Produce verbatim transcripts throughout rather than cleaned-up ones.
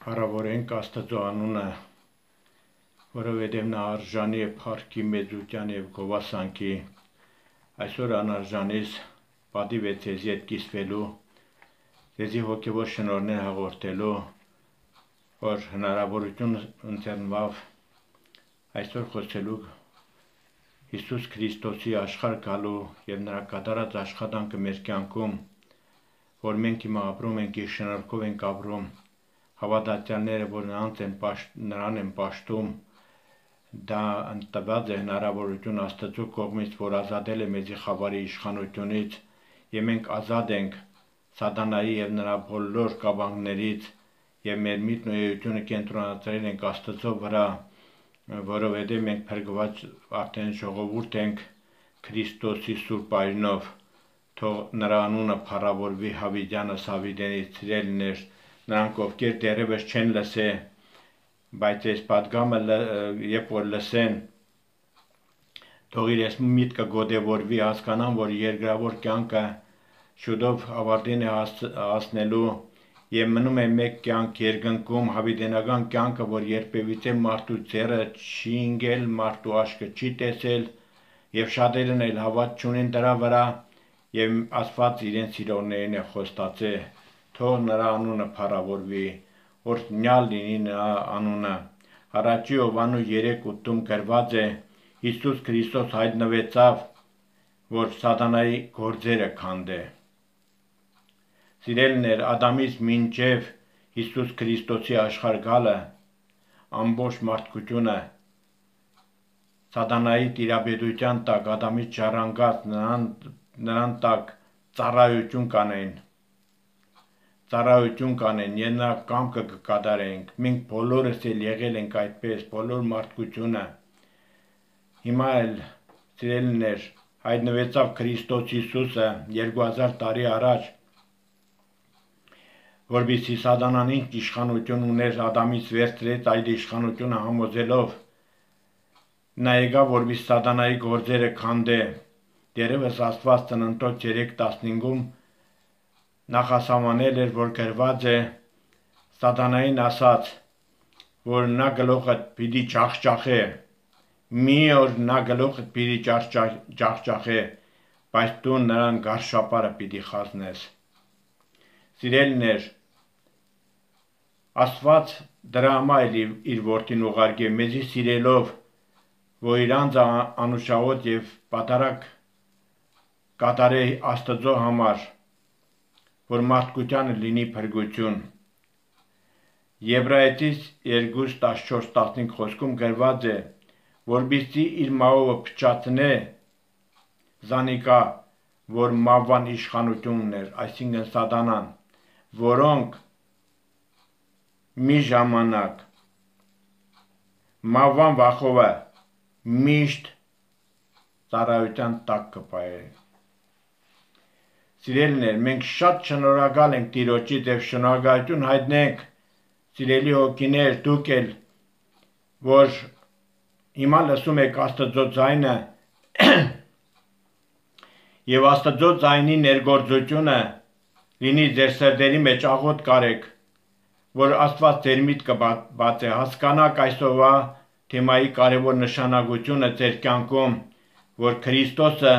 Փառավորենք Աստծո անունը, որովհետև նա արժանի է փառքի, մեծության և գովասանքի, այսօր անարժանից պատիվ է ձեզի հետ կիսվելու, ձեզի հոգևոր շնորհներ հաղորդելու, որ հնարավորություն ընձեռնվավ այսօր խոսելու Հիսուս Քրիստոսի աշխարհ գալու և նրա կատարած աշխատանքը մեր կյանքում, որ մենք հիմա ապրում ենք, իր շնորհքով ենք ապրում, հավատացյալները, որ նրան են պաշտում, դա ընտրված է հնարավորություն Աստծո կողմից, որ ազատել է մեզի խավարի իշխանությունից, և մենք ազատ ենք սատանայի և նրա բոլոր կաբանքներից, և մեր միտքն ու էությունը կենտրոնացրել ենք Աստծո վրա, որովհետև մենք փրկված արդեն ժողովուրդ ենք Քրիստոսի սուրբ այրնով, թող նրա անունը փառավորվի հավիտյանս հավիտենից, սիրելիներ, նրանք ովքեր դեռևս չեն լսել, բայց այս պատգամը երբ որ լսեն, թող իրենց միտքը գոդևորվի, հասկանան, որ երկրավոր կյանքը շուտով ավարտին է հասնելու և մնում է մեկ կյանք երկնքում, հավիտենական կյանքը, որ երբևիցե մարդու ձեռը չի ընկել, մարդու աչքը չի տեսել, և շատերն էլ հավատ չունեն դրա վրա, և Աստված իրենց սիրողներին է խոստացել, թող նրա անունը փառավորվի, օրհնյալ լինի նրա անունը։ Առաջի Հովհաննես երեք ութում գրված է. Հիսուս Քրիստոս հայտնվեցավ, որ սատանայի գործերը քանդե։ Սիրելիներ, Ադամից մինչև Հիսուս Քրիստոսի աշխարհ գալը, ամբողջ մարդկությունը սատանայի տիրապետության տակ, Ադամից ժառանգած, նրան տակ ծառայություն կանեն, ծառայություն կանեն, և նրա կամքը կկատարենք, մենք բոլորս էլ եղել ենք այդպես, բոլոր մարդկությունը, հիմա էլ, սիրելիներ, հայտնվեցավ Քրիստոս Հիսուսը երկու հազար տարի առաջ, որպեսզի սատանան ինչ իշխանություն ուներ, Ադամից վերցրեց այդ իշխանությունը համոզելով, նա եկավ, որպեսզի սատանայի գործերը քանդե, դեռևս Աստված Ծննդոց երեք տասնհինգում նախասահմանել էր, որ գրված է, սատանային ասաց, որ նա գլուխդ պիտի ջախջախե, մի օր նա գլուխդ պիտի ջախջախե, բայց դու նրան գարշապարը պիտի խառնես։ Սիրելիներ, Աստված դրա համար իր որդին ուղարկել, մեզի սիրելով, որ իր անձը անուշահոտ և պատարագ կատարե Աստծո համար, որ մարդկությանը լինի փրկություն։ Եբրայեցիս երկու տասնչորս տասնհինգ խոսքում գրված է, որպեսզի իր մահով փչացնե զանիկա, որ մահվան իշխանություն ուներ, այսինքն սատանան, որոնք մի ժամանակ մահվան վախովը միշտ ծառայության տակ կպահեն։ Սիրելիներ, մենք շատ շնորհակալ ենք Տիրոջից և շնորհակալություն հայտնենք, սիրելի հոգիներ, դուք էլ, որ հիմա լսում եք Աստծո ձայնը և Աստծո ձայնի ներգործությունը լինի ձեր սրտերի մեջ, աղոթք կարեք, որ Աստված ձեր միտքը բացե, հասկանաք այսօրվա թեմայի կարևոր նշանակությունը ձեր կյանքում, որ Քրիստոսը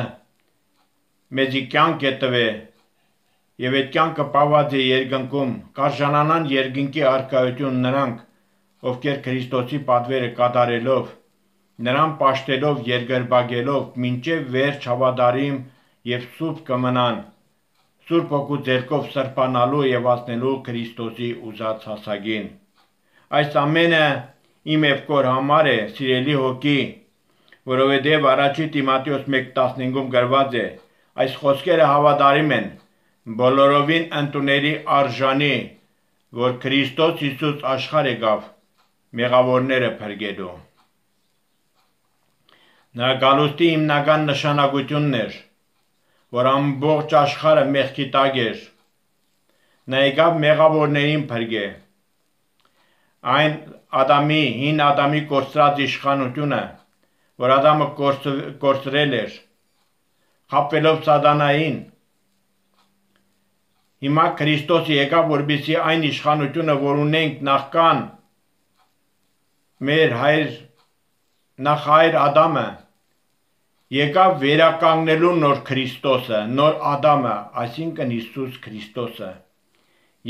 մեզի կյանք է տվել և այդ կյանքը պահված է երկնքում, կարժանանան երկնքի առկայություն նրանք, ովքեր Քրիստոսի պատվերը կատարելով, նրան պաշտելով, երկրպագելով, մինչև վերջ հավատարիմ և սուրբ կմնան, Սուրբ Հոգու ձեռքով սրբանալու և հասնելու Քրիստոսի ուզած հասակին։ Այս ամենը իմ և քո համար է, սիրելի հոգի, որովհետև առաջի Տիմոթեոս մեկ տասնհինգում գրված է, այս խոսքերը հավատարիմ են, բոլորովին ընդունելի արժանի, որ Քրիստոս Հիսուս աշխարհ եկավ մեղավորները փրկելու։ Նրա գալուստի հիմնական նշանակությունն էր, որ ամբողջ աշխարհը մեղքի տակ էր, նա եկավ մեղավորներին փրկել, այն Ադամի, հին Ադամի կորցրած իշխանությունը, որ Ադամը կորցրել էր, խաբվելով սատանային, Հիմա Քրիստոսը եկավ, որպեսզի այն իշխանությունը, որ ունենք նախքան մեր հայր նախահայր Ադամը, եկավ վերականգնելու նոր Քրիստոսը, նոր Ադամը, այսինքն Հիսուս Քրիստոսը,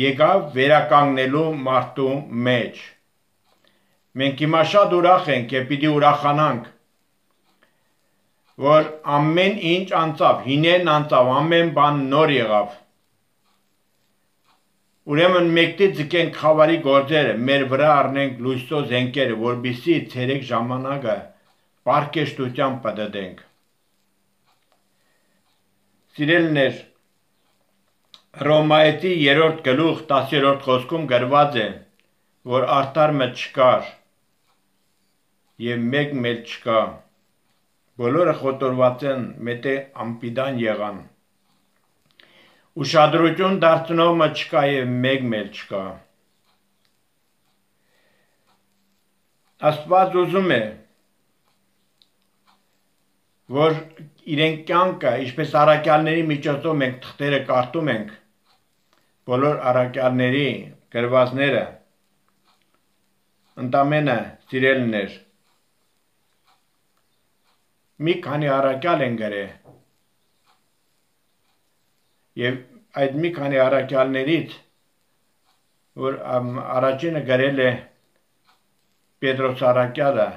եկավ վերականգնելու մարդու մեջ։ Մենք հիմա շատ ուրախ ենք և պիտի ուրախանանք, որ ամեն ինչ անցավ, հինեն անցավ, ամեն բան նոր եղավ։ Ուրեմն մեկտի ձգենք խավարի գործերը, մեր վրա առնենք լույսո զենքերը, որպեսզի ցերեկ ժամանակը պարկեշտությամբ պտտենք։ Սիրելիներ, Հռոմայեցի երրորդ գլուխ տասերորդ խոսքում գրված է, որ արդար մը չկար և մեկ էլ չկա, բոլորը խոտորված են, մետե անպիտան եղան, ուշադրություն դարձնող մը չկա և մեկ էլ չկա։ Աստված ուզում է, որ իրեն կյանքը, ինչպես առաքյալների միջոցով մենք թղթերը կարդում ենք, բոլոր առաքյալների գրվածները, ընդամենը սիրելիներ, մի քանի առաքյալ են գրել, և այդ մի քանի առաքյալներից, որ առաջինը գրել է Պետրոս առաքյալը,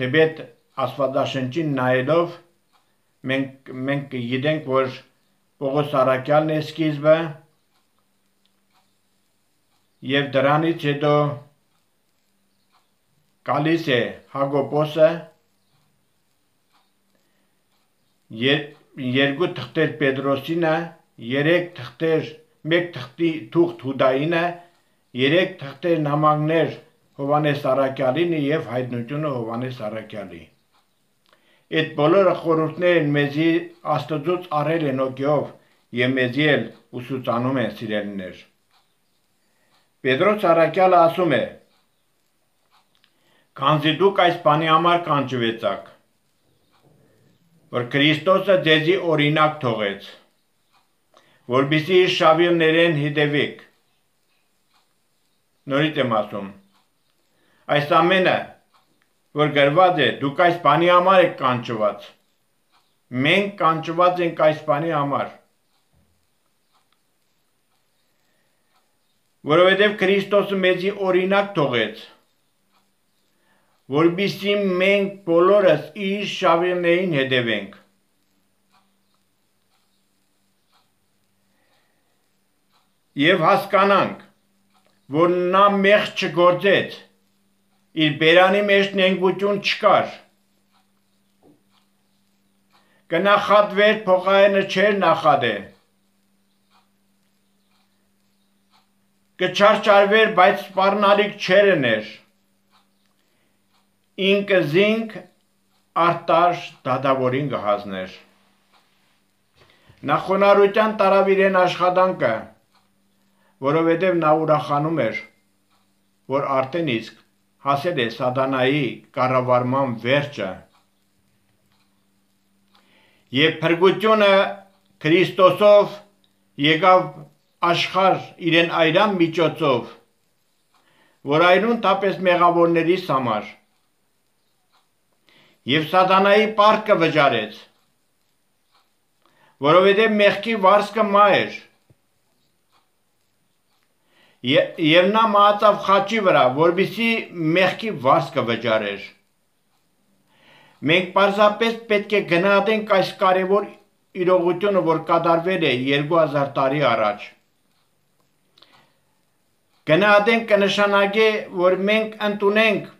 թեպետ Աստվածաշնչին նայելով մենք, մենք գիտենք, որ Պողոս առաքյալն է սկիզբը և դրանից հետո գալիս է Հակոբոսը, երկու թղթեր Պետրոսինը, երեք թղթեր, մեկ թղթի թուղթ Հուդայինը, երեք թղթեր նամակներ Հովհաննես առաքյալինը և հայտնությունը Հովհաննես առաքյալի։ Այդ բոլորը խորհուրդներ են մեզի Աստծուց առել են օգեով և մեզի էլ ուսուցանում են սիրելիներ։ Պետրոս առաքյալը ասում է. «Քանզի դուք այս բանի համար կանչվեցաք, որ Քրիստոսը ձեզի օրինակ թողեց, որպեսզի իր շավիղներեն հետևեք»։ Նորից եմ ասում, այս ամենը, որ գրված է, դուք այս բանի համար եք կանչված, մենք կանչված ենք այս բանի համար, որովհետև Քրիստոսը մեզի օրինակ թողեց, որպեսզի մենք բոլորս իր շավիղներին հետևենք։ Եվ հասկանանք, որ նա մեղք չգործեց, իր բերանի մեջ նենգություն չկար, կնախատվեր, փոխարենը չէր նախատե, կչարչարվեր, բայց սպառնալիք չէր ներ, ինքը զինք արտար դատավորին կհազներ։ Նա խոնարհության տարավ իրեն աշխատանքը, որովհետև նա ուրախանում էր, որ արդեն իսկ հասել է սատանայի կառավարման վերջը և փրկությունը Քրիստոսով եկավ աշխարհ իրեն այրան միջոցով, որ այրուն թապես մեղավորներիս համար և սատանայի պարտքը վճարեց, որովհետև մեղքի վարձքը մահ էր, և նա մահացավ խաչի վրա, որպեսզի մեղքի վարձքը վճարեր։ Մենք պարզապես պետք է գնահատենք այս կարևոր իրողությունը, որ կատարվել է երկու հազար տարի առաջ։ Գնահատենք կնշանակի, որ մենք ընդունենք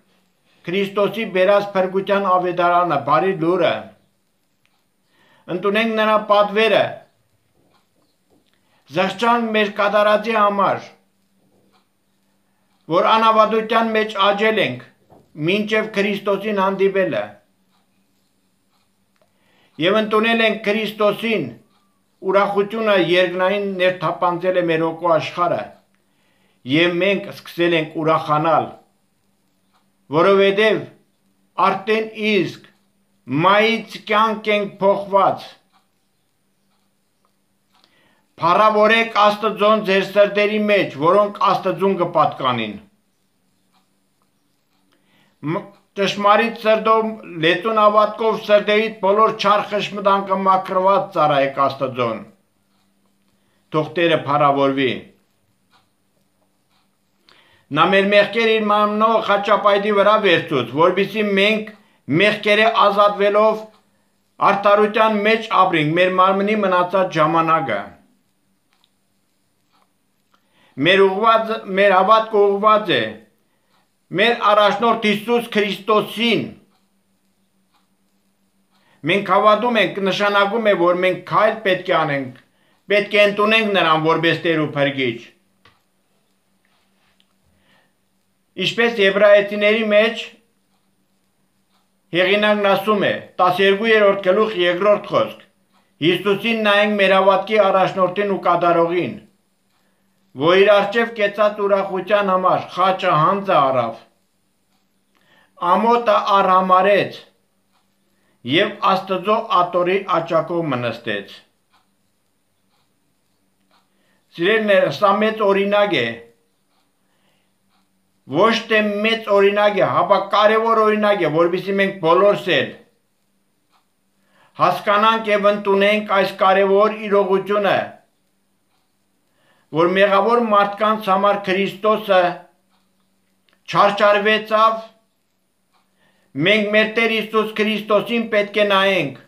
Քրիստոսի բերած փրկության ավետարանը, բարի լուրը, ընդունենք նրա պատվերը, զղջանք մեր կատարածի համար, որ անավատության մեջ աճել ենք, մինչև Քրիստոսին հանդիպելը, և ընդունել ենք Քրիստոսին, ուրախությունը երկնային ներթափանցել է մեր հոգու աշխարհը, և մենք սկսել ենք ուրախանալ, որովհետև արդեն իսկ մահից կյանք ենք փոխված, Փառավորեք Աստծուն ձեր սրտերի մեջ, որոնք Աստծուն կպատկանին։ Ճշմարիտ սրտով, լեցուն հավատքով սրտերիդ բոլոր չար խշմտանքը մաքրված ծառայեք Աստծուն։ Թող Տերը փառավորվի։ Նա մեր մեղքերը իր մարմնով խաչապայտի վրա վերցուց, որպեսզի մենք մեղքերը ազատվելով արդարության մեջ ապրենք մեր մարմնի մնացած ժամանակը։ Մեր ուղված, մեր հավատքը ուղված է մեր առաջնորդ Հիսուս Քրիստոսին։ Մենք հավատում ենք, նշանակում է, որ մենք քայլ պետք է անենք, պետք է ընդունենք նրան որպես Տեր ու Փրկիչ։ Ինչպես Եբրայեցիների մեջ հեղինակն ասում է, տասներկուերորդ գլուխ երկրորդ խոսք, Հիսուսին նայենք մեր հավատքի առաջնորդին ու կատարողին, որ իր առջև կեցած ուրախության համար խաչը հանձը առավ, ամոթը արհամարեց և Աստծո աթոռի աջակով մնստեց։ Սիրելիներ, սա մեծ օրինակ է, ոչ թե մեծ օրինակ է, հապա կարևոր օրինակ է, որպեսզի մենք բոլորս էլ հասկանանք և ընդունենք այս կարևոր իրողությունը, որ մեղավոր մարդկանց համար Քրիստոսը չարչարվեցավ, մենք մեր Տեր Հիսուս Քրիստոսին պետք է նայենք,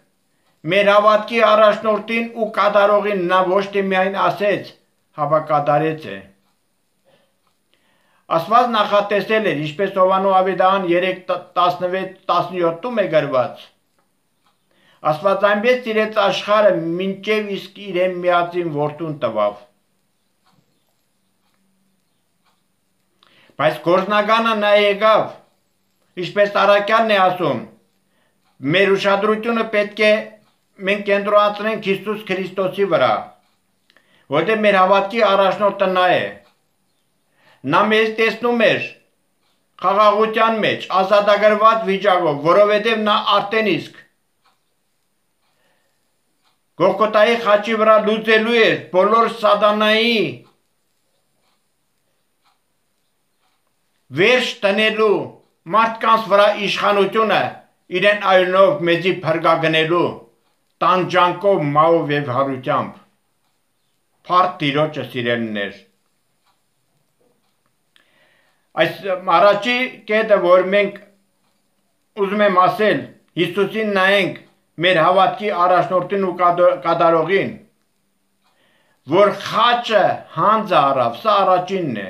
մեր հավատքի առաջնորդին ու կատարողին, նա ոչ թե միայն ասեց, հապա կատարեց է։ Աստված նախատեսել էր, ինչպես Հովհաննես Ավետարան երեք տասնվեց տասնյոթում է գրված, Աստված այնպես սիրեց աշխարհը, մինչև իսկ իրեն միածին որդուն տվավ։ Բայց գործնականը նա եկավ, ինչպես առաքյալն է ասում, մեր ուշադրությունը պետք է մենք կենտրոնացնենք Հիսուս Քրիստոսի վրա, որտեղ մեր հավատքի առաջնորդը նա է։ Նա մեզ տեսնում էր խաղաղության մեջ, ազատագրված վիճակով, որովհետև նա արդեն իսկ Գողգոթայի խաչի վրա լուծելու էր բոլոր սատանայի վերջ տնելու մարդկանց վրա իշխանությունը իրեն այլնով մեզի փրկագնելու տանջանքով, մահով և հարությամբ։ Փառք Տիրոջը, սիրելիներ։ Այս առաջի կետը, որ մենք ուզում եմ ասել, Հիսուսին նայենք մեր հավատքի առաջնորդին ու կատարողին, որ խաչը հանձը առավ, սա առաջինն է։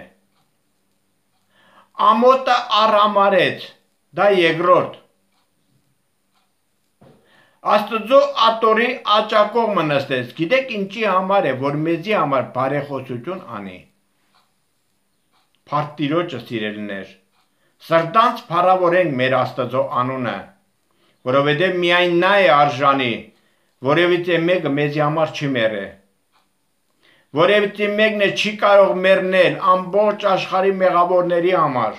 Ամոթը արհամարեց, դա երկրորդ։ Աստծո աթոռի աջակով մնստեց, գիտեք ինչի համար է, որ մեզի համար բարեխոսություն անի։ Փառք Տիրոջը, սիրելիներ, սրտանց փառավորենք մեր Աստծո անունը, որովհետև միայն նա է արժանի, որևիցե մեկը մեզի համար չի մեռե, որևիցե մեկն է չի կարող մեռնել ամբողջ աշխարհի մեղավորների համար։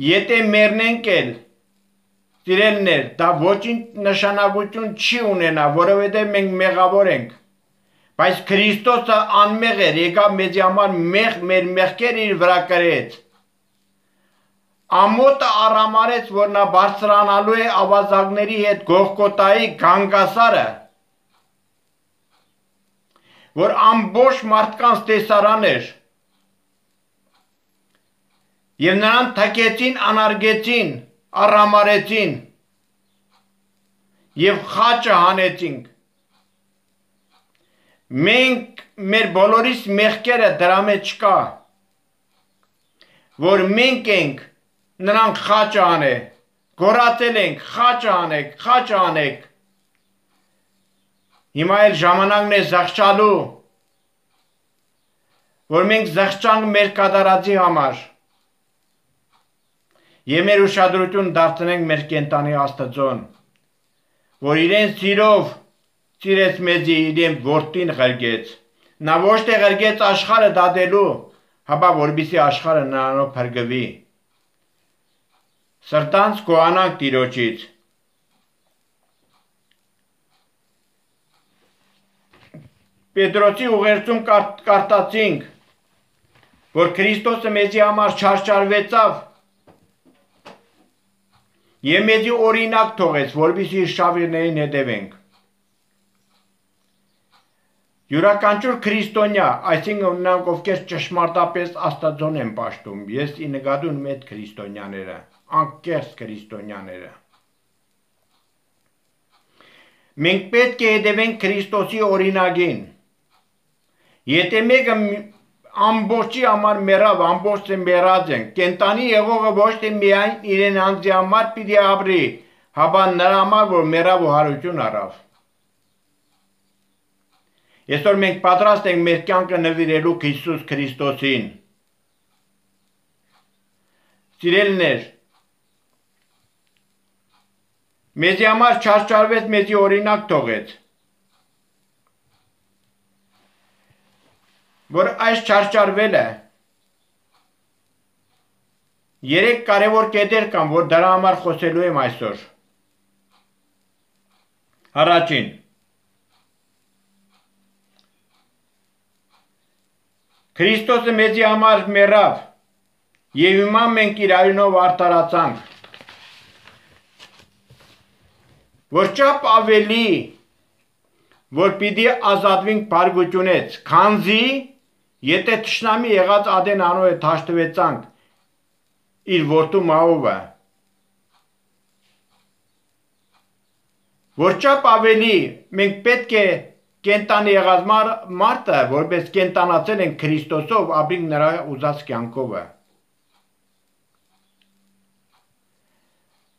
Եթե մեռնենք էլ, սիրելիներ, դա ոչինչ նշանակություն չի ունենա, որովհետև մենք մեղավոր ենք, բայց Քրիստոսը անմեղ էր, եկավ մեզի համար մեղ մեր մեղքերը իր վրա կրեց։ Ամոթը արհամարեց, որ նա բարձրանալու է ավազակների հետ Գողգոթայի գանգասարը, որ ամբողջ մարդկանց տեսարան էր, և նրան թքեցին, անարգեցին, արհամարեցին և խաչը հանեցինք։ Մենք մեր բոլորիս մեղքերը դրա մեջ չկա, որ մենք ենք նրան խաչը անե, գոռացել ենք, խաչը անեք, խաչը անեք։ Հիմա էլ ժամանակն է զղջալու, որ մենք զղջանք մեր կատարածի համար և մեր ուշադրություն դարձնենք մեր կենտանի Աստծուն, որ իրեն սիրով սիրեց մեզի, իրեն որդին ղրկեց։ Նա ոչ թե ղրկեց աշխարհը դատելու, հապա որպեսզի աշխարհը նրանով փրկվի։ Սրտանց գոհանանք Տիրոջից։ Պետրոսի ուղերձում կարդացինք, որ Քրիստոսը մեզի համար չարչարվեցավ եւ մեզի օրինակ թողեց, որպեսզի իր շավիղներին հետևենք։ Յուրաքանչյուր քրիստոնյա, այսինքն նրանք, ովքեր ճշմարտապես Աստծուն են պաշտում, ես ի նկատի ունեմ այդ քրիստոնյաները, անկեղծ քրիստոնյաները։ Մենք պետք է հետևենք Քրիստոսի օրինակին։ Եթե մեկը ամբողջի համար մեռավ, ամբողջ մեռած են, կենտանի եղողը ոչ թե միայն իրեն անձի համար պիտի ապրի, հապա նրա համար, որ մեռավ ու հարություն առավ։ Այսօր մենք պատրաստ ենք մեր կյանքը նվիրելու Հիսուս Քրիստոսին։ Սիրելիներ, մեզի համար չարչարվեց, մեզի օրինակ թողեց, որ այս չարչարվելը երեք կարևոր կետեր կան, որ դրա համար խոսելու եմ այսօր։ Առաջին, Քրիստոսը մեզի համար մեռավ եւ հիմա մենք իր արյունով արդարացանք, որ չափ ավելի, որ պիտի ազատվենք բարկությունից, քանզի եթե թշնամի եղած Ադեն անոյը թաշտվեցանք իր որդու մահովը, որ չափ ավելի մենք պետք է կենտանի եղած մարդը, որպես կենտանացել են Քրիստոսով, ապրենք նրա ուզած կյանքովը։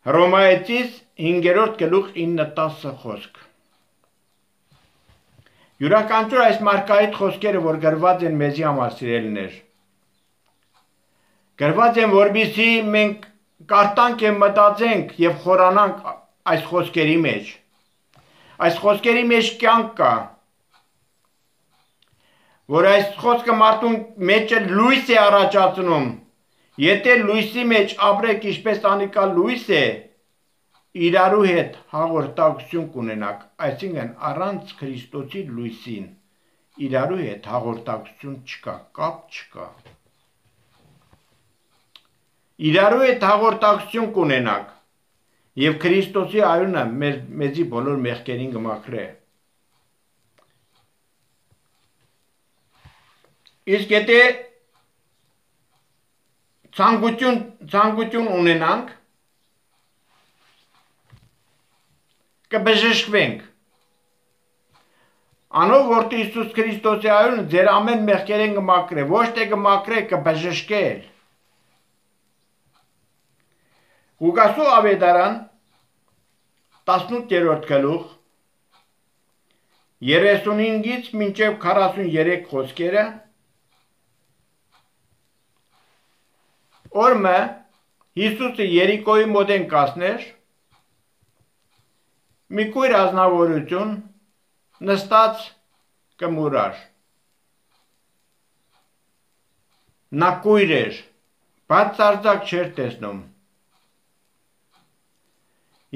Հռոմայեցիս հինգերորդ գլուխ ինը տասը խոսք։ Յուրաքանչյուր այս մարգարեիտ խոսքերը, որ գրված են մեզի համար, սիրելիներ, գրված են, որպեսզի մենք կարդանք եւ մտածենք եւ խորանանք այս խոսքերի մեջ։ Այս խոսքերի մեջ կյանք կա, որ այս խոսքը մարդուն մեջը լույս է առաջացնում։ Եթե լույսի մեջ ապրեք ինչպես անիկալ լույս է, իրարու հետ հաղորդակցություն կունենաք, այսինքն առանց Քրիստոսի լույսին իրարու հետ հաղորդակցություն չկա, կապ չկա։ Իրարու հետ հաղորդակցություն կունենաք եւ Քրիստոսի արյունը մեզի բոլոր մեղքերին կմաքրե։ Իսկ եթե ցանկություն ցանկություն ունենանք, կբժշկվենք։ Անով որդի Հիսուս Քրիստոսի արյունը ձեր ամեն մեղքերին կմաքրե, ոչ թե կմաքրե, կբժշկել։ Ղուկասու ավետարան տասնութերորդ գլուխ երեսունհինգից մինչև քառասուններեք խոսքերը օրը Հիսուսը Երիկոյի մոտ են կասներ, մի կույր ազնվորություն նստած կմուրար։ Նա կույր էր, բայց ծարձակ չէր տեսնում։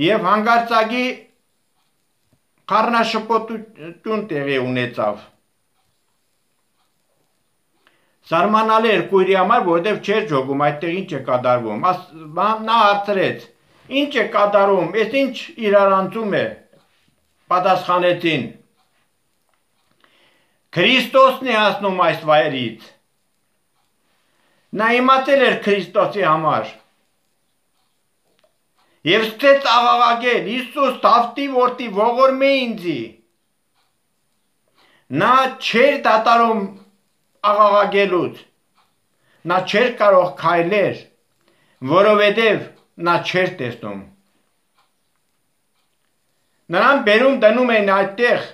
Եվ հանգարցակի խառնաշփոթություն տեղի ունեցավ։ Զարմանալի էր կույրի համար, որովհետև չէր ջոգում, այդտեղ ինչ է կատարվում։ Նա հարցրեց, ինչ է կատարում, այս ինչ իրարանցում է, պատասխանեցին։ Քրիստոսն է հասնում այս վայրից։ Նա իմացել էր Քրիստոսի համար։ Եվ սկսեց աղաղակել, Հիսուս, Դավթի որդի, ողորմե ինձի։ Նա չէր դատարում աղաղակելուց, նա չէր կարող քայլեր, որովհետև նա չէր տեսնում։ Նրան բերում դնում էին այդտեղ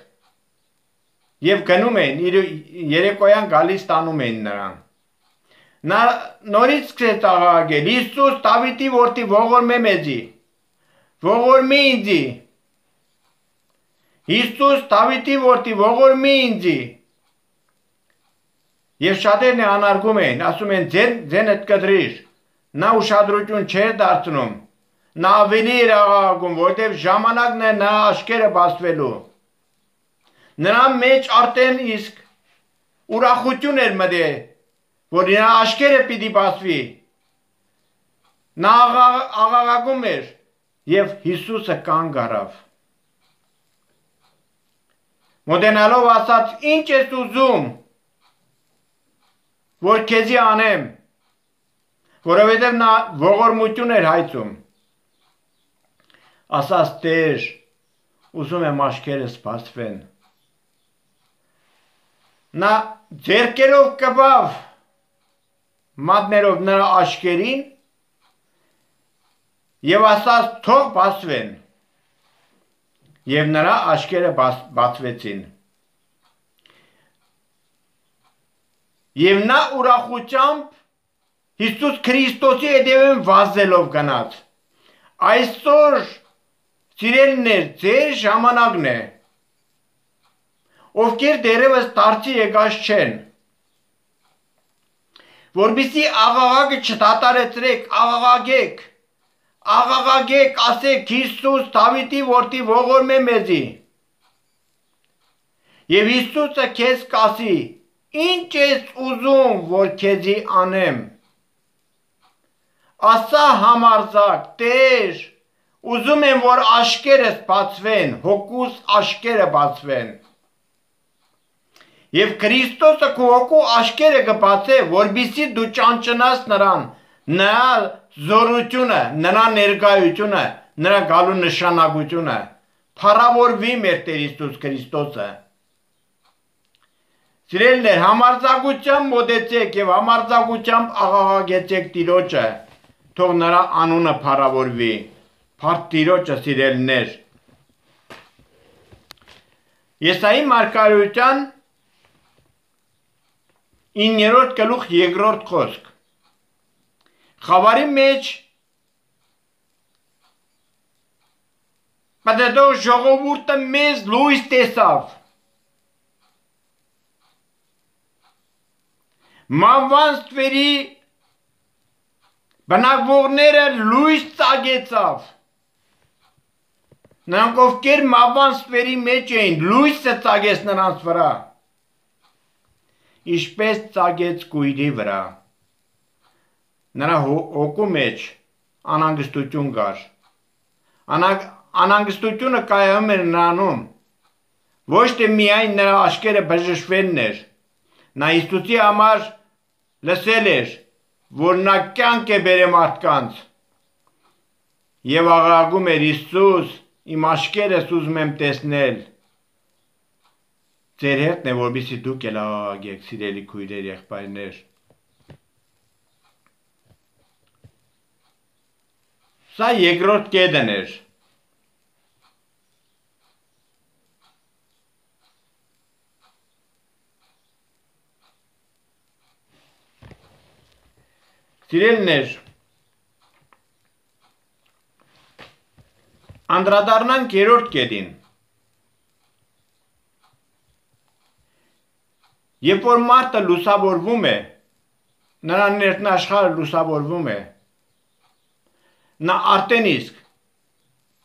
և գնում էին, երեկոյան գալիս տանում էին նրան։ Նա նորից սկսեց աղաղակել, Հիսուս, Դավթի որդի, ողորմե մեզի, ողորմի ինձի, Հիսուս, Դավթի որդի, ողորմի ինձի։ Եվ շատերն անարգում էին, ասում են ձենդ կտրիր, նա ուշադրություն չէր դարձնում, նա ավելի էր աղաղակում, որտև ժամանակն է նա աչքերը բացվելու։ Նրա մեջ արդեն իսկ ուրախություն էր մտել, որ նրա աչքերը պիտի բացվի։ Նա աղաղակում էր եւ Հիսուսը կանգ առավ։ Մոտենալով ասաց. «Ինչ ես ուզում, որ քեզի անեմ», որովհետև նա ողորմություն էր հայցում։ Ասաց. «Տեր, ուզում եմ աչքերս բացվեն»։ Նա ձեռքերով կպավ մատներով նրա աչքերին եւ ասաց. «Թող բացվեն»։ Եվ նրա աչքերը բացվեցին։ Եվ նա ուրախությամբ Հիսուս Քրիստոսի հետևում վազելով գնաց։ Այսօր, սիրելիներ, ձեր ժամանակն է, ովքեր դեռևս դարձի եկած չեն, որպեսզի աղաղակը չդադարեցրեք, աղաղակեք, աղաղակեք, ասեք. «Հիսուս, Դավիթի որդի, ողորմ է մեզի»։ Եվ Հիսուսը քեզ կասի. «Ինչ ես ուզում, որ քեզի անեմ»։ Ասա համարձակ. «Տեր, ուզում եմ, որ աչքերս բացվեն, հոգուս աչքերը բացվեն»։ Եվ Քրիստոսը քո հոգու աչքերը կբացե, որպեսզի դու ճանճնաս նրան, նրա զորությունը, նրա ներկայությունը, նրա գալու նշանակությունը, փառավորվի մեր Տեր Հիսուս Քրիստոսը։ Սիրելիներ, համարձակությամբ մոտեցեք եւ համարձակությամբ աղաղակեցեք Տիրոջը, թող նրա անունը փառավորվի։ Փառք Տիրոջը, սիրելիներ։ Եսայի մարգարեության իններորդ գլուխ երկրորդ խոսք։ Խավարի մեջ պատետող ժողովուրդը մեծ լույս տեսավ։ Մահվան ստվերի բնակվողները լույս ծագեցավ։ Նրանք ովքեր մահվան ստվերի մեջ էին, լույսը ծագեց նրանց վրա։ Ինչպես ծագեց կույրի վրա։ Նրա հոգու մեջ անհանգստություն կար։ Անհանգստությունը կայանում էր նրանում, ոչ թե միայն նրա աչքերը բժշկվելն էր։ Նա Հիսուսի համար լսել էր, որ նա կյանք է բերել մարդկանց, եւ աղաղակում էր. «Հիսուս, իմ աչքերս ուզում եմ տեսնել»։ Ձեր հերթն է, որպեսզի դուք էլ աղաղակեք, սիրելի քույրեր, եղբայրներ։ Սա երկրորդ կետն էր։ Սիրելիներ, անդրադառնանք երրորդ կետին։ Երբ որ մարդը լուսավորվում է, նրա ներքնաշխարհը լուսավորվում է, նա արդեն իսկ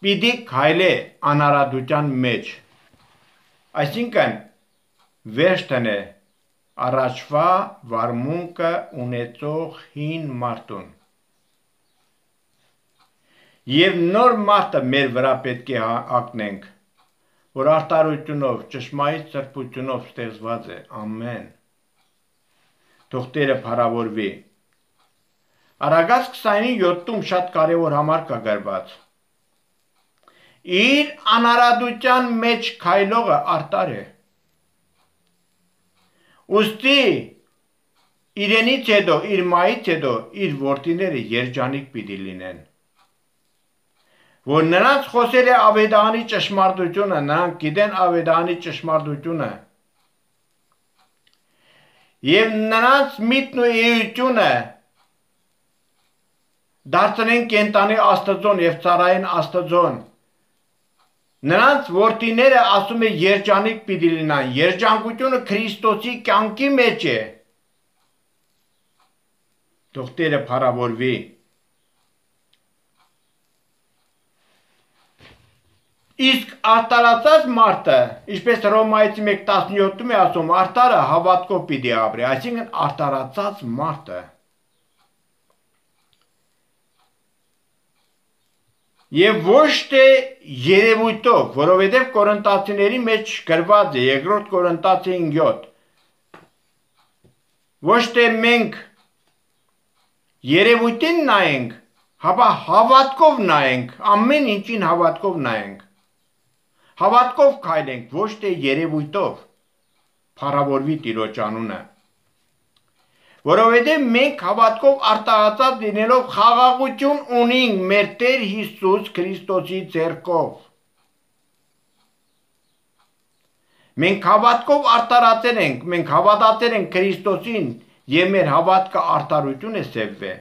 պիտի քայլե անարատության մեջ, այսինքն վերջ տնե առաջվա վարմունքը ունեցող հին մարդուն։ Եվ նոր մարդը մեր վրա պետք է հագնենք, որ արդարությունով, ճշմարիտ սրբությունով ստեղծված է։ Ամեն։ Թող Տերը փառավորվի։ Արագած քսանինի յոթում շատ կարևոր համար կա գրված։ Իր անարատության մեջ քայլողը արդար է։ Ուստի իրենից հետո, իր մայից հետո, իր որդիները երջանիկ պիտի լինեն։ Որ նրանց խոսել է ավետարանի ճշմարտությունը, նրանք գիտեն ավետարանի ճշմարտությունը։ Եվ նրանց միտքն ու էությունը դարձնեն կենտանի Աստծուն եւ ծառային Աստծուն։ Նրանց որդիները, ասում է, երջանիկ պիտի լինեն, երջանկությունը Քրիստոսի կյանքի մեջ է։ Թող Տերը փառավորվի։ Իսկ արտարացած մարդը, ինչպես Հռոմայեցի մեկ տասնյոթում է ասում, արտարը հավատքով պիտի ապրի, այսինքն արտարացած մարդը։ Եվ ոչ թե երևույթով, որովհետև Կորինթացիների մեջ գրված է երկրորդ Կորինթացիներին յոթ, ոչ թե մենք երևույթին նայենք, հապա հավատքով նայենք, ամեն ինչին հավատքով նայենք, հավատքով քայլենք, ոչ թե երևույթով, փառավորվի Տիրոջ անունը, որովհետև մենք հավատքով արտահայտած լինելով խաղաղություն ունենք մեր Տեր Հիսուս Քրիստոսի ձեռքով։ Մենք հավատքով արտարացել ենք, մենք հավատացել ենք Քրիստոսին եւ մեր հավատքը արտարություն է սևվել։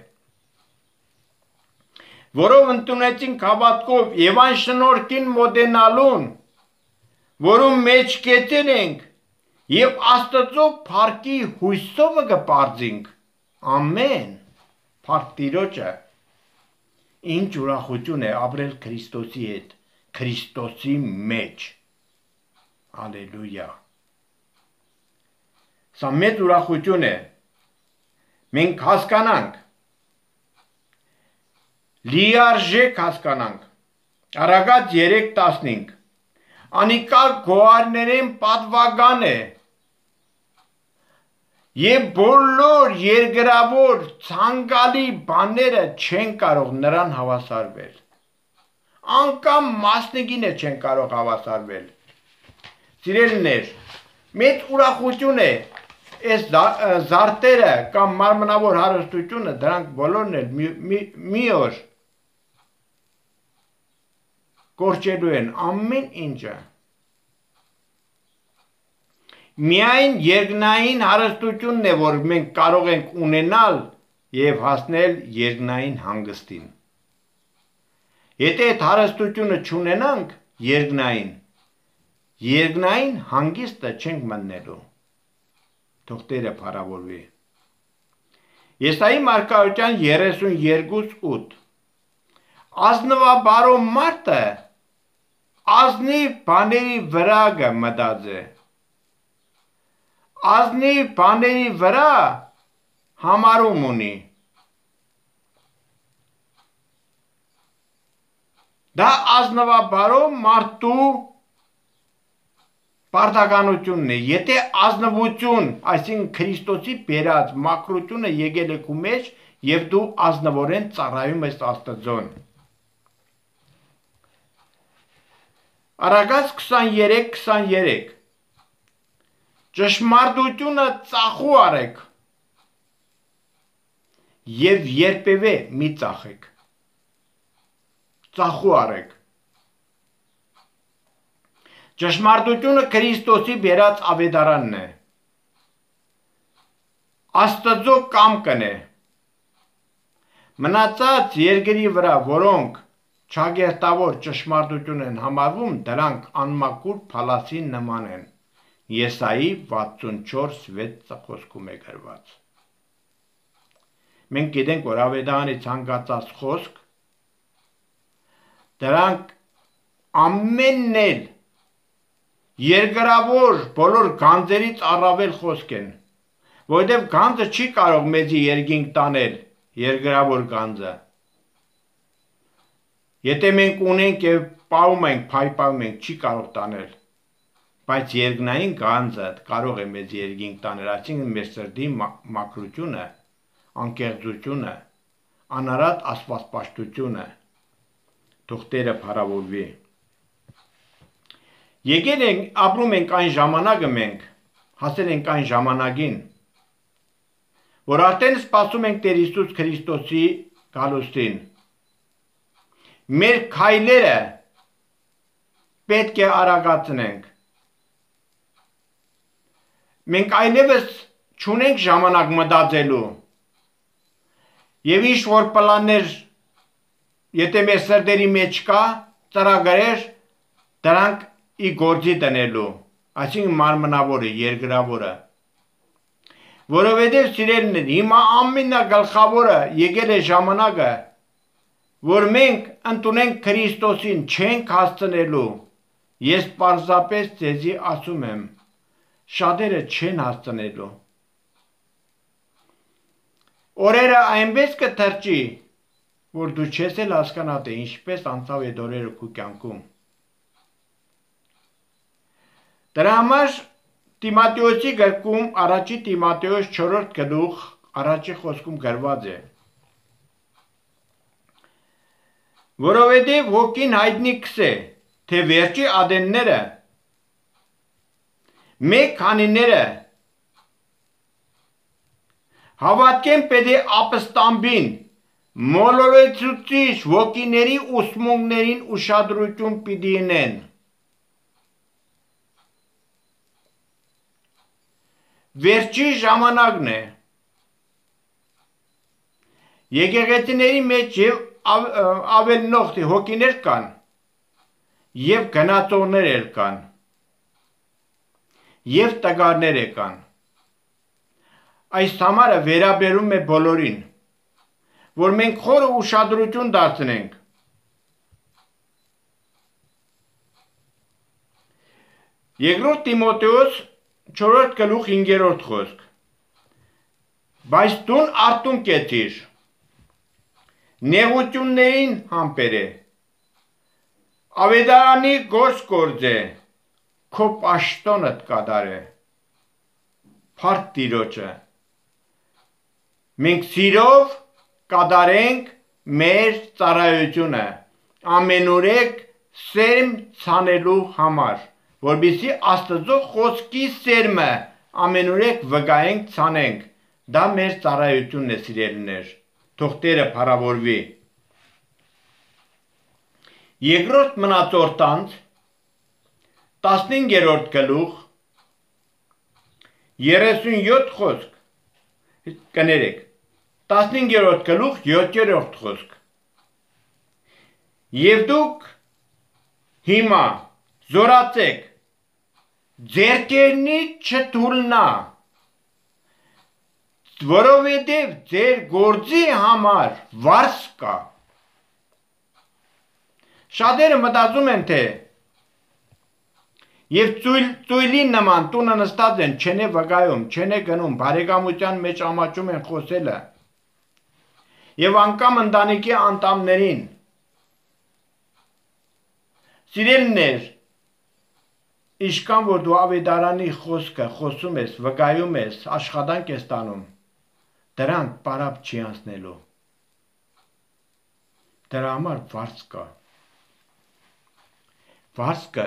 Որով ընդունեցինք հավատքով եւ այն շնորհքին մոտենալուն, որում մեջ կեցել ենք եւ Աստծո փառքի հույսով կպարծինք։ Ամեն։ Փառք Տիրոջը։ Ինչ ուրախություն է ապրել Քրիստոսի հետ, Քրիստոսի մեջ։ Ալելույա։ Սա մեծ ուրախություն է։ Մենք հասկանանք, լիարժեք հասկանանք, Արագած երեք տասնհինգ, անիկալ գոհարներեն պատվական է, եւ բոլոր երկրավոր ցանկալի բաները չեն կարող նրան հավասարվել, անգամ մասնիկին է չեն կարող հավասարվել։ Սիրելիներ, մեծ ուրախություն է, այս զարտերը կամ մարմնավոր հարստությունը, դրանք բոլորն էլ մի, մի, մի օր կորչելու են ամեն ինչը։ Միայն երկնային հարստությունն է, որ մենք կարող ենք ունենալ եւ հասնել երկնային հանգստին։ Եթե այդ հարստությունը չունենանք երկնային, երկնային հանգիստը չենք մտնելու։ Թող Տերը փառավորվի։ Եսայի մարգարեության երեսունյոթ ութ Ազնվաբարո մարդը ազնիվ բաների վրա կմտածի, ազնիվ բաների վրա համարում ունի։ Դա ազնվաբարո մարդու պարտականությունն է։ Եթե ազնվություն, այսինքն Քրիստոսի բերած մաքրությունը եկել է քո մեջ եւ դու ազնվորեն ծառայում ես Աստծուն։ Արագած քսաներեք քսաներեք Ճշմարտությունը ծախու արեք եւ երբևէ մի ծախեք։ Ծախու արեք։ Ճշմարտությունը Քրիստոսի բերած ավետարանն է։ Աստծո կամքն է։ Մնացած երկրի վրա, որոնք չագերտավոր ճշմարտություն են համարվում, դրանք անմաքուր փալասի նման են։ Եսայի վաթսունչորս վեց խոսքում է գրված։ Մենք գիտենք, որ ավետարանի ցանկացած խոսք, դրանք ամենն էլ երկրավոր բոլոր գանձերից առավել խոսք են, որովհետև գանձը չի կարող մեզի երկինք տանել, երկրավոր գանձը։ Եթե մենք ունենք եւ պահում ենք, փայփայում ենք, չի կարող տանել, բայց երկնային գանձը կարող է մեզ երկինք տանել, այսինքն մեր սրտի մաքրությունը, անկեղծությունը, անարատ աստվածպաշտությունը, թող Տերը փառավորվի։ Եկել ենք, ապրում ենք այն ժամանակը մենք, հասել ենք այն ժամանակին, որ արդեն սպասում ենք Տեր Հիսուս Քրիստոսի գալուստին։ Մեր քայլերը պետք է արագացնենք։ Մենք այլևս չունենք ժամանակ մտածելու։ Եվ ինչ որ պլաններ, եթե մեր սրտերի մեջ կա, ծրագրեր, դրանք ի գործի դնելու, այսինքն մարմնավորը, երկրավորը։ Որովհետև սիրելիներ, հիմա ամենագլխավորը եկել է ժամանակը, որ մենք ընդունենք Քրիստոսին չենք հասցնելու, ես պարզապես ձեզի ասում եմ, շատերը չեն հասցնելու։ Օրերը այնպես կթրջի, որ դու չես էլ հասկանա, թե ինչպես անցավ այդ օրերը քո կյանքում։ Դրա համար Տիմոթեոսի գրքում առաջի Տիմոթեոս չորրորդ գլուխ առաջի խոսքում գրված է. Որովհետև ոգին հայտնի կսե, թե վերջի ադենները մեկ քանիները հավատքեն պետք է ապստամբին, մոլորեցուցիչ ոգիների ուսմունքներին ուշադրություն պիտի ունեն։ Վերջի ժամանակն է։ Եկեղեցիների մեջ եւ ավելնող հոգիներ կան եւ գնացողներ էլ կան եւ տղաներ կան։ Այս համարը վերաբերում է բոլորին, որ մենք խորը ուշադրություն դարձնենք։ Երկրորդ Տիմոթեոս չորրորդ գլուխ հինգերորդ խոսք։ Բայց դուն արտուն կեցիր, նեղություններին համբերե, ավետարանի գործ գործե, քո պաշտոնդ կատարե, փառք Տիրոջը։ Մենք սիրով կատարենք մեր ծառայությունը, ամենուրեք սերմ ցանելու համար, որպեսզի Աստծո խոսքի սերմը ամենուրեք վկայենք ցանենք։ Դա մեր ծառայությունն է, սիրելիներ, թող Տերը փառավորվի։ Երկրորդ մնացորդանց տասնհինգերորդ գլուխ երեսունյոթ խոսք կներեք, տասնհինգերորդ գլուխ յոթերորդ խոսք։ Եվ դուք հիմա զորացեք, ձեռքերնից չթուլնա, որովհետև ձեր գործի համար վարձ կա։ Շատերը մտածում են, թե եւ ծույլի նման տունը նստած են, չեն է վկայում, չեն է գնում, բարեկամության մեջ ամաչում են խոսելը եւ անգամ ընտանիքի անդամներին։ Սիրելիներ, ինչքան որ դու ավետարանի խոսքը խոսում ես, վկայում ես, աշխատանք ես տանում, դրանք պարապ չի անցնելու։ Դրա համար վարձ կա։ Վարձ կա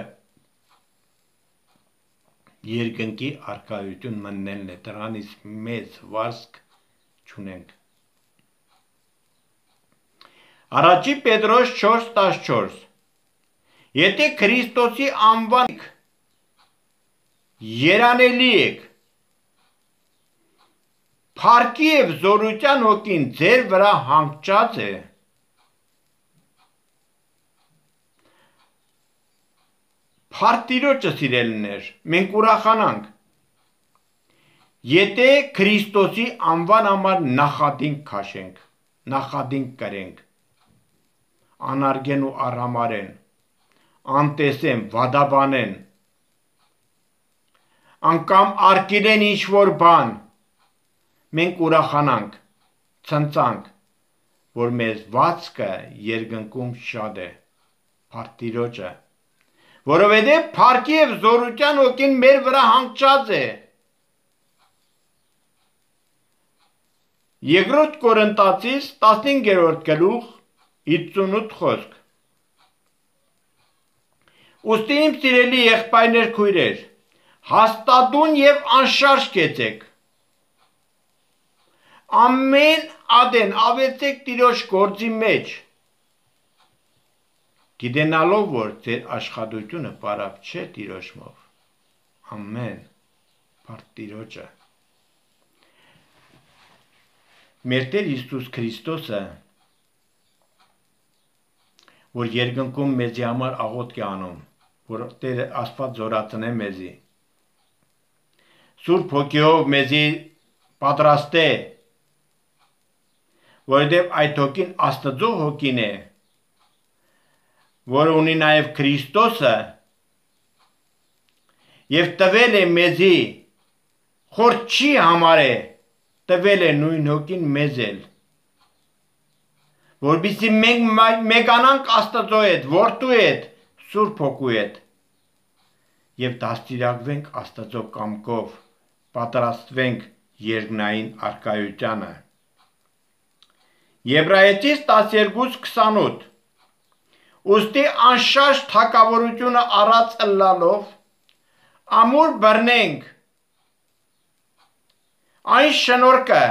երկնքի արկայություն մտնելն է, դրանից մեծ վարձք չունենք։ Առաջի Պետրոս չորս տասնչորս Եթե Քրիստոսի անվան երանելի եք, փառքի եւ զորության հոգին ձեր վրա հանգչած է, փառք Տիրոջը, սիրելիներ, մենք ուրախանանք, եթե Քրիստոսի անվան համար նախադինք քաշենք, նախադինք կրենք, անարգեն ու առհամարեն, անտեսեն, վադաբանեն, անգամ արկիրեն ինչ-որ բան, մենք ուրախանանք, ցնծանք, որ մեզ վարձքը երկնքում շատ է, փառք Տիրոջը, որովհետև փառքի եւ զորության հոգին մեր վրա հանգչած է։ Երկրորդ Կորինթացիս տասնհինգերորդ գլուխ հինգսունութ խոսք։ Ուստի իմ սիրելի եղբայրներ, քույրեր, հաստատուն եւ անշարժ կեցեք։ Ամեն ադեն ավեցեք Տիրոջ գործի մեջ, գիտենալով, որ ձեր աշխատությունը պարապ չէ Տիրոջմով։ Ամեն, փառք Տիրոջը։ Մեր Տեր Հիսուս Քրիստոսը, որ երկնքում մեզի համար աղոթք է անում, որ Տեր Աստված զորացնե մեզի, Սուրբ Հոգիով մեզի պատրաստե, որովհետև այդ հոգին Աստծո հոգին է, որ ունի նաև Քրիստոսը եւ տվել է մեզի խոր չի համարե տվել է նույն հոգին մեզ էլ որբիսի մենք մեկանանք Աստծո հետ որդու հետ Սուրբ Հոգու հետ եւ դաստիարակվենք Աստծո կամքով պատրաստվենք երկնային արքայությանը Եբրայեցիս տասներկու քսանութ Ուստի անշարժ թակավորությունը առած ըլլալով ամուր բռնենք այն շնորհքը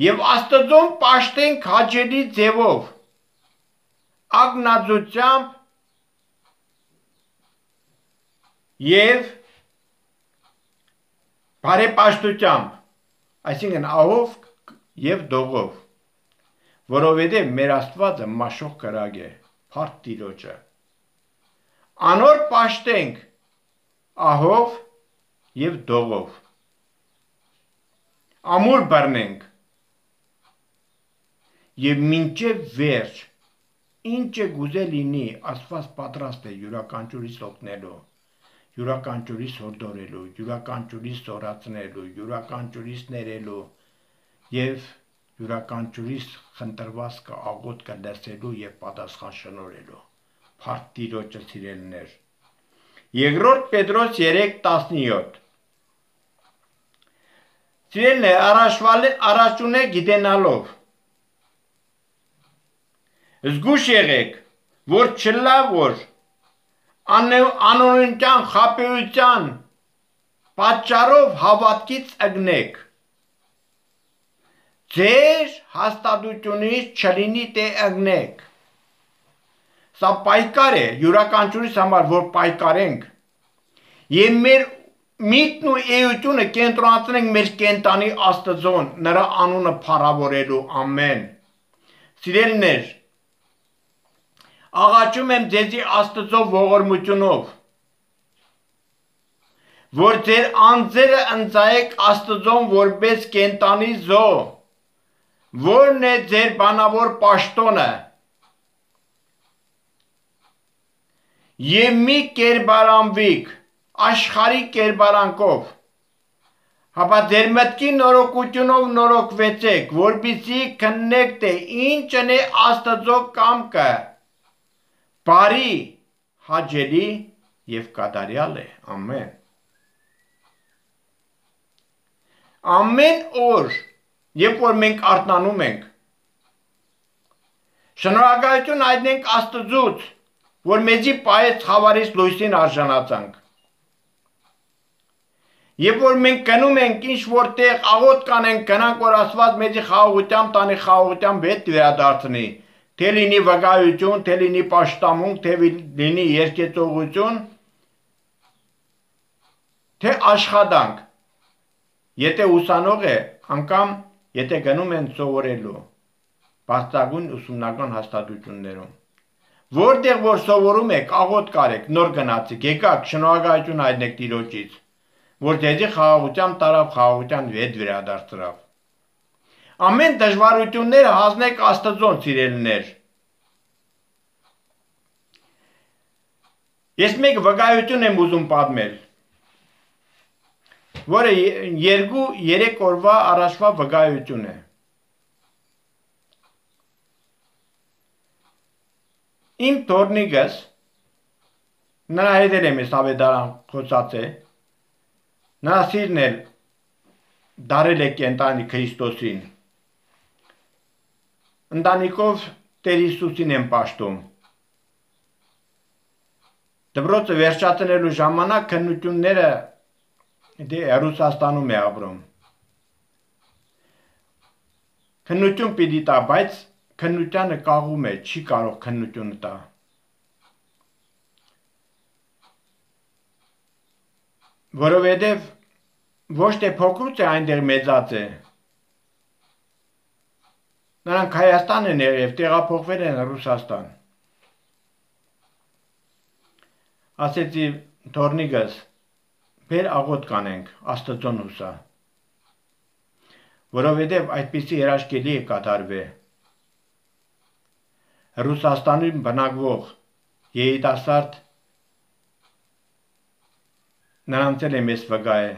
եւ Աստծուն պաշտենք հաճելի ձևով ագնացությամբ եւ բարեպաշտությամբ այսինքն ահով եւ դողով որովհետեւ մեր Աստվածը մաշող կրակ է փառք Տիրոջը անոր պաշտենք ահով եւ դողով ամուր բռնենք եւ մինչեւ վերջ ինչ է գուզե լինի Աստված պատրաստ է յուրաքանչյուրիս օգնելու յուրաքանչյուրիս հորդորելու յուրաքանչյուրիս սորացնելու յուրաքանչյուրիս ներելու եւ յուրաքանչյուրիս խնդրվածքը աղոթքը լսելու եւ պատասխան շնորհելու փառք Տիրոջը սիրելիներ Երկրորդ Պետրոս երեք տասնյոթ Սիրելիներ առաջունե գիտենալով զգուշ եղեք որ չլա որ անօրինության խաբեության պատճառով հավատքից ըգնեք ձեր հաստատությունից չլինի թե ըգնեք սա պայքար է յուրաքանչյուրիս համար որ պայքարենք եւ մեր միտքն ու էությունը կենտրոնացնենք մեր կենտանի Աստծոն նրա անունը փառավորելու ամեն սիրելիներ աղաչում եմ ձեզի Աստծո ողորմությունով որ ձեր անձերը ընծայեք Աստծոն որպես կենտանի զո որն է ձեր բանավոր պաշտոնը եւ մի կերպարանվիկ աշխարհի կերպարանքով հապա ձեր մտքի նորոգությունով նորոգվեցեք որպեսզի քննեք թե ինչն է Աստծո կամքը բարի հաճելի եւ կատարյալ է ամեն ամեն օր երբ որ մենք արթնանում ենք շնորհակալություն հայտնենք Աստծուց որ մեզի պահեց խավարից լույսին արժանացանք երբ որ մենք գնում ենք ինչ որտեղ աղոթք կանենք գնանք որ Աստված մեզի խաղաղությամբ տանի խաղաղությամբ հետ վերադարձնի թե լինի վկայություն թե լինի պաշտամունք թե լինի երկեցողություն թե աշխատանք եթե ուսանող է անգամ եթե գնում են սովորելու բարձրագույն ուսումնական հաստատություններում որտեղ որ սովորում եք աղոթք արեք նոր գնացեք եկաք շնորհակալություն հայտնեք Տիրոջից որ ձեզի խաղաղությամբ տարավ խաղաղության հետ վերադարձավ ամեն դժվարությունները հանձնեք Աստծոն սիրելիներ ես մեկ վկայություն եմ ուզում պատմել որը երկու երեք օրվա առաջվա վկայություն է իմ թորնիկս նրա հետ եմ ես ավետարան խոսած է նրա սիրն էլ դարել է կենտանի Քրիստոսին ընտանիքով Տեր Հիսուսին եմ պաշտում դպրոցը վերջացնելու ժամանակ քննությունները դե Ռուսաստանում է ապրում քննություն պիտի տա բայց քննությանը կաղում է չի կարող քննությունը տա որովհետև ոչ թե փոքրուց է այնտեղ մեծած է նրանք Հայաստան են եղել տեղափոխվել են Ռուսաստան ասեցի թորնիկս բեր աղոթք կանենք Աստծոն հուսա որովհետև այդպիսի երաշխելի է կատարվե Ռուսաստանում բնակվող երիտասարդ նրանց էլ եմ ես վկա է,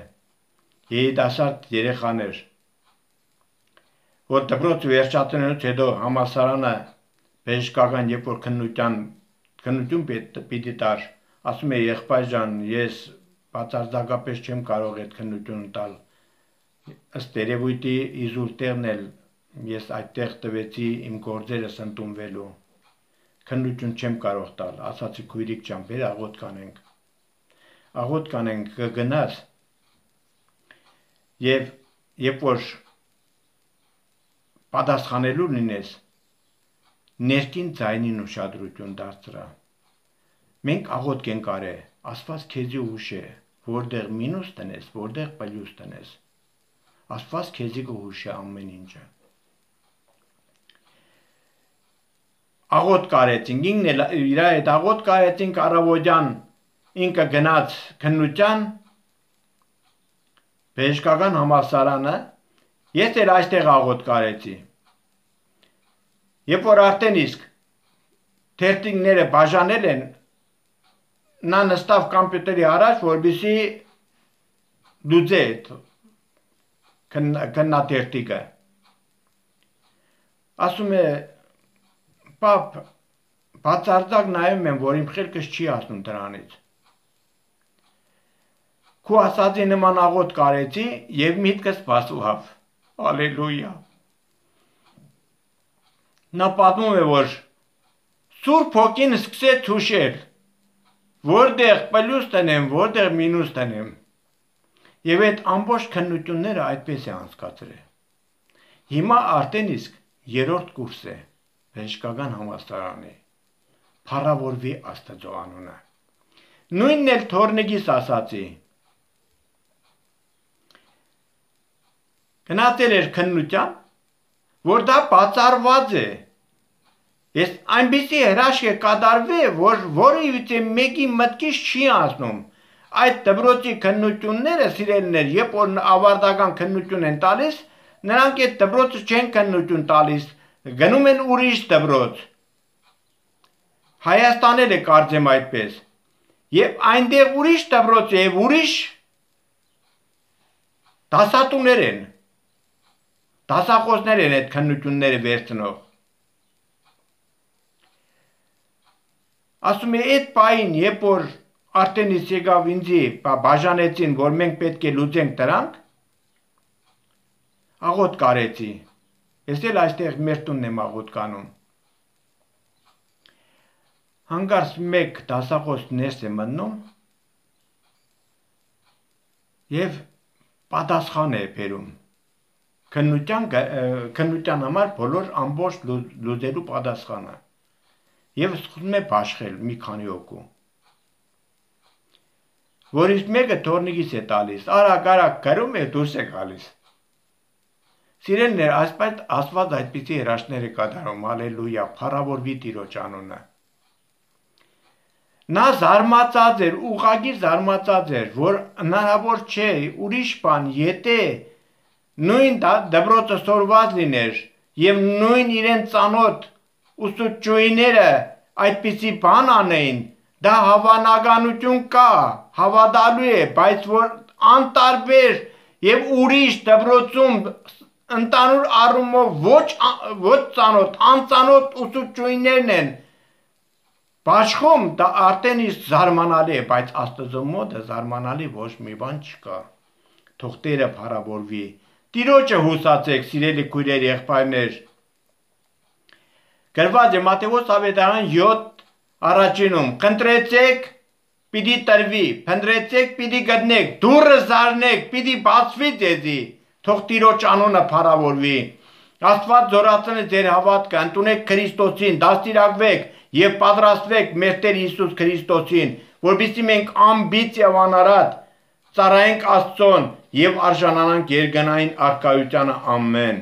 երիտասարդ երեխաներ, որ դպրոց վերջացնելուց հետո համալսարանը բժշկական երբ որ քննության քննություն պիտի տար, ասում է եղբայր ջան, ես բացարձակապես չեմ կարող այդ քննությունը տալ, ըստ երևույթի իզուր տեղն էլ ես այդտեղ տվեցի իմ գործերս ընդունվելու, քննություն չեմ կարող տալ, ասացի քույրիկ ջան, բեր աղոտ կանենք, աղոտ կանենք կգնաս եւ երբ որ պատասխանելու լինես, ներքին ձայնին ուշադրություն դարձրա, մենք աղոտ կենք արե, Աստված քեզի ուշ է, որտեղ մինուս տնես, որտեղ պլյուս տնես, Աստված քեզի կհուշ է ամեն ինչը, աղոտ կարեցինք, ինքն էլ իր հետ աղոտ կարեցինք առավոտյան, ինքը գնաց քննության, բժշկական համալսարանը, ես էլ այստեղ աղոտ կարեցի, երբ որ արդեն իսկ թերթիկները բաժանել են, նա նստավ կամպյուտերի առաջ, որպեսզի լուծե քննաթերթիկը, ասում է, պապ, բացարձակ նայում եմ, որ իմ խելքս չի ասնում դրանից, քու ասածի նման աղոտ կարեցի և միտքս բացվավ, ալելույա, նա պատմում է, որ Սուրբ Հոգին սկսեց հուշել, որտեղ պլյուս տնեմ, որտեղ մինուս տնեմ, և այդ ամբողջ քննությունները այդպես է անցկացրել, հիմա արդեն իսկ երրորդ կուրս է, բժշկական համալսարանի, փառավորվի Աստծո անունը, նույնն էլ թորնիկիս ասացի, գնացել էր քննության, որ դա բացառված է, ես այնպիսի հրաշք է կատարվել, որ որևիցե մեկի մտքից չի անցնում, այդ դպրոցի քննությունները սիրելիներ, երբ որ ավարտական քննություն են տալիս, նրանք այդ դպրոցը չեն քննություն տալիս, գնում են ուրիշ դպրոց, Հայաստանել է կարծեմ այդպես, և այնտեղ ուրիշ դպրոց է և ուրիշ դասատուներ են, դասախոսներ են այդ քննությունները վերցնող, ասում է այդ պահին, երբ որ արդեն իսկ եկավ ինձի բաժանեցին, որ մենք պետք է լուծենք դրանք, աղոտ կարեցի, ես էլ այստեղ մեր տունն եմ աղոտ կանում, հանկարծ մեկ դասախոս ներս է մտնում և պատասխան է բերում, քննության համար բոլոր ամբողջ լուծելու պատասխանը և սկսում է բաշխել մի քանի հոգու, որից մեկը թորնիկիս է տալիս, արագ արագ գրում է դուրս է գալիս, սիրելիներ, Աստված այդպիսի հրաշքներ է կատարում, ալելույա, փառավորվի Տիրոջ անունը, նա զարմացած էր, ուղղակի զարմացած էր, որ հնարավոր չէ, ուրիշ բան, եթե նույն դպրոցը սորված լիներ և նույն իրեն ծանոթ ուսուցչուհիները այդպիսի բան անեին, դա հավանականություն կա, հավատալու է, բայց որ անտարբեր և ուրիշ դպրոցում ընդհանուր առումով ոչ ծանոթ, անծանոթ ուսուցչուհիներն են բաշխում, դա արդեն իսկ զարմանալի է, բայց Աստծո մոտ զարմանալի ոչ մի բան չկա, թող Տերը փառավորվի, Տիրոջը հուսացեք, սիրելի քույրեր, եղբայրներ, գրված է Մատթեոս ավետարան յոթ առաջինում, խնդրեցեք, պիտի տրվի, փնտրեցեք, պիտի գտնեք, դուռը զարնեք, պիտի բացվի ձեզի, թող Տիրոջ անունը փառավորվի, Աստված զորացնի ձեր հավատքը, ընդունեք Քրիստոսին, դաստիարակվեք և պատրաստվեք մեր Տեր Հիսուս Քրիստոսին, որպեսզի մենք անբիծ և անարատ ծառայենք Աստծուն և արժանանանք երկնային առկայությանը, ամեն։